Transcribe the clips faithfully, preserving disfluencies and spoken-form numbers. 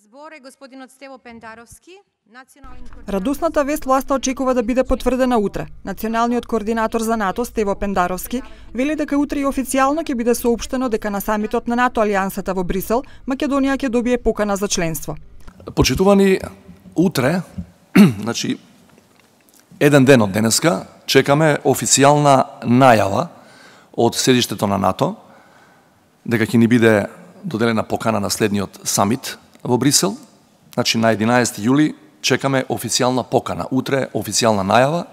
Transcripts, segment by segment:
збор е господинот Стево Пендаровски, национален координатор. Радосната вест власта очекува да биде потврдена утре. Националниот координатор за НАТО Стево Пендаровски вели дека утре и официјално ќе биде соопштено дека на самитот на НАТО алијансата во Брисел Македонија ќе добие покана за членство. Почитувани, утре, значи еден ден од денеска, чекаме официјална најава од седиштето на НАТО дека ќе ни биде доделена покана на следниот самит во Брисел. Значи на единаесети јули чекаме официјална покана. Утре официјална најава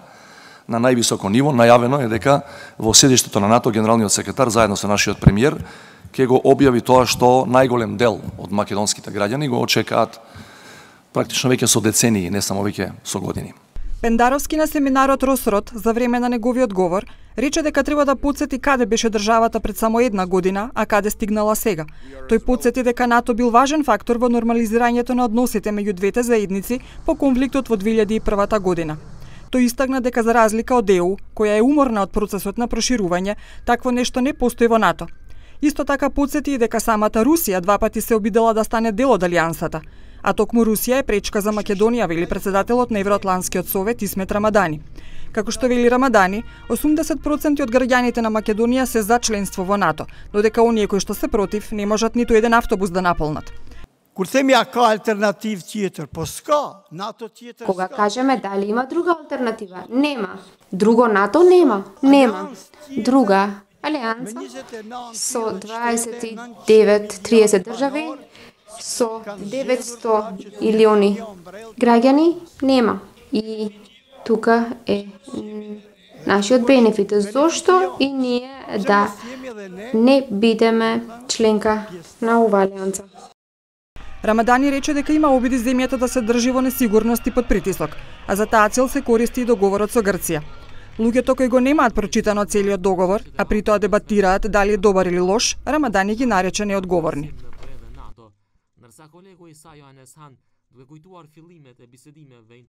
на највисоко ниво. Најавено е дека во седиштето на НАТО генералниот секретар заедно со нашиот премиер ќе го објави тоа што најголем дел од македонските граѓани го очекаат практично веќе со децении, не само веќе со години. Пендаровски на семинарот Росрот за време на неговиот говор рече дека треба да потсети каде беше државата пред само една година, а каде стигнала сега. Тој потсети дека НАТО бил важен фактор во нормализирањето на односите меѓу двете заедници по конфликтот во две илјади и прва година. Тој истакна дека за разлика од Е У, која е уморна од процесот на проширување, такво нешто не постои во НАТО. Исто така потсети и дека самата Русија два пати се обидела да стане дел од алијансата, а токму Русија е пречка за Македонија, вели председателот на Евроатланскиот совет Исмет Рамадани. Како што вели Рамадани, осумдесет проценти од граѓаните на Македонија се за членство во НАТО, додека оние кои што се против не можат ниту еден автобус да наполнат. Кога кажеме дали има друга алтернатива? Нема. Друго НАТО нема. Нема. Друга алијанса со дваесет и девет триесет држави со деветсто илиони граѓани нема. И тука е нашиот бенефит. Зошто и ние да не бидеме членка на оваа алијанса? Рамадани рече дека има обиди земјата да се држи во несигурност и под притисок, а за таа цел се користи и договорот со Грција. Луѓето кои го немаат прочитано целиот договор, а при тоа дебатираат дали е добар или лош, Рамадани ги нарече неодговорни.